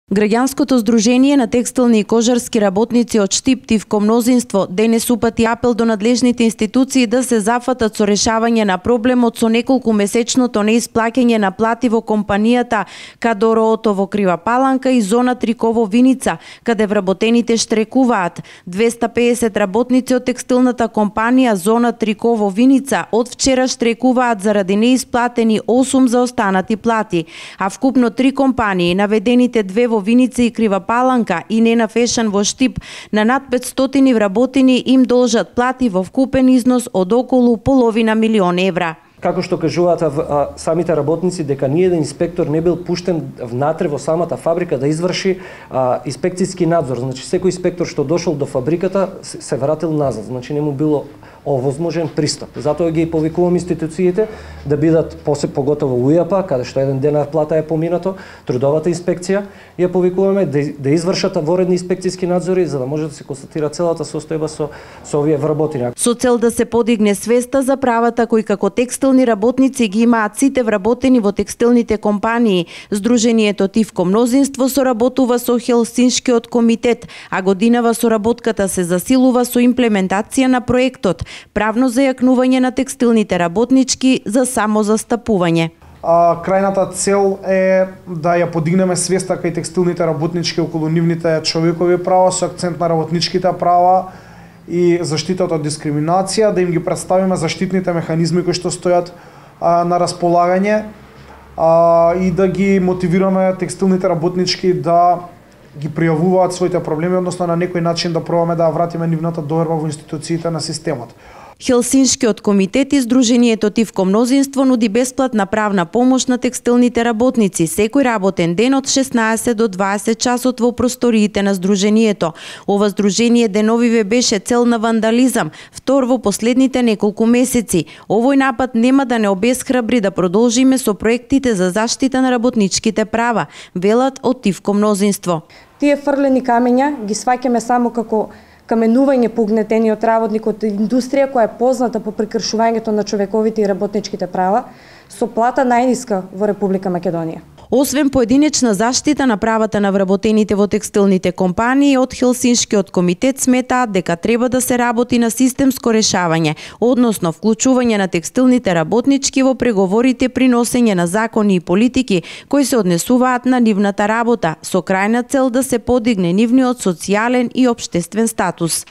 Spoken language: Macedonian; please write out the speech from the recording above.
Граѓанското здружение на текстилни и кожарски работници од Штип Тивко мнозинство денес упати апел до надлежните институции да се зафатат со решавање на проблемот со неколку месечното неисплаќање на плати во компанијата Кадороото во Крива Паланка и Зона Триково Виница, каде вработените штрекуваат. 250 работници од текстилната компанија Зона Триково Виница од вчера штрекуваат заради неисплатени 8 заостанати плати, а вкупно 3 компании, наведените 2 во Виница и Крива Паланка и Нена Фешан во Штип, на над 500 вработени им должат плати во вкупен износ од околу половина милион евра. Како што кажуваат самите работници, дека ниеден инспектор не бил пуштен внатре во самата фабрика да изврши инспекцијски надзор. Значи секој инспектор што дошол до фабриката се вратил назад, значи не му било овозможен пристап. Затоа ги повикувам институциите да бидат поготово УЈАП, каде што еден денар плата е поминато, трудовата инспекција, ја повикуваме да извршат воредни инспекцијски надзори за да може да се констатира целата состојба со овие вработени. Со цел да се подигне свеста за правата кои како текстилни работници ги имаат сите вработени во текстилните компании, Здружението Тивко мнозинство соработува со Хелсиншкиот комитет, а годинава соработката се засилува со имплементација на проектот Правно зајакнување на текстилните работнички за самозастапување. Крајната цел е да ја подигнеме свеста кај текстилните работнички околу нивните човекови права со акцент на работничките права и заштитата од дискриминација, да им ги представиме заштитните механизми кои што стојат на располагање и да ги мотивираме текстилните работнички да ги пријавуваат своите проблеми, односно на некој начин да пробаме да вратиме нивната доверба во институциите на системот. Хелсиншкиот комитет и Здружението Тивко мнозинство нуди бесплатна правна помош на текстилните работници секој работен ден од 16 до 20 часот во просториите на Здружението. Ова здружение деновиве беше цел на вандализам, втор во последните неколку месеци. Овој напад нема да не обесхрабри да продолжиме со проектите за заштита на работничките права, велат од Тивко мнозинство. Тие фрлени камења ги сваќаме само како каменување по угнетениот работник од индустрија која е позната по прекршувањето на човековите и работничките права со плата најниска во Република Македонија. Освен поединечна заштита на правата на вработените во текстилните компании, од Хелсиншкиот комитет сметаат дека треба да се работи на системско решавање, односно вклучување на текстилните работнички во преговорите при носење на закони и политики кои се однесуваат на нивната работа, со крајна цел да се подигне нивниот социјален и општествен статус.